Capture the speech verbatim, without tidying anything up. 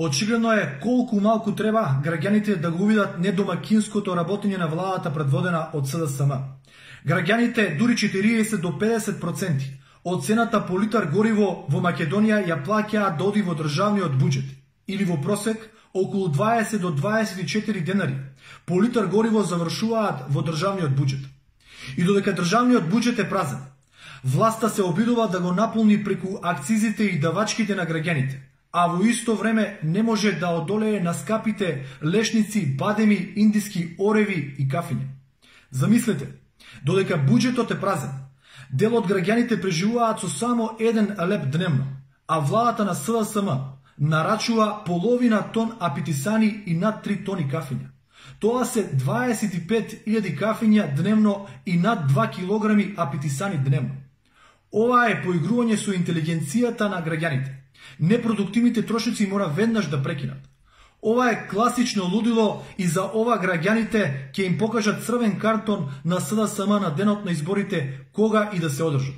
Очигледно е колку малку треба граѓаните да го увидат недомакинското работење на владата предводена од С Д С М. Граѓаните дури четириесет до педесет проценти од цената по литар гориво во Македонија ја плаќаат да оди во државниот буџет, или во просек околу дваесет до дваесет и четири денари по литар гориво завршуваат во државниот буџет. И додека државниот буџет е празен, власта се обидува да го наполни преку акцизите и давачките на граѓаните, а во исто време не може да одолее на скапите лешници, бадеми, индиски ореви и кафиња. Замислете, додека буџетот е празен, дел од граѓаните преживуваат со само еден леп дневно, а владата на С Д С М нарачува половина тон апетисани и над три тони кафиња. Тоа се дваесет и пет илјади кафиња дневно и над два килограми апетисани дневно. Ова е поигрување со интелигенцијата на граѓаните. Непродуктивните трошици мора веднаш да прекинат. Ова е класично лудило и за ова граѓаните ќе им покажат црвен картон на С Д С М на денот на изборите кога и да се одржат.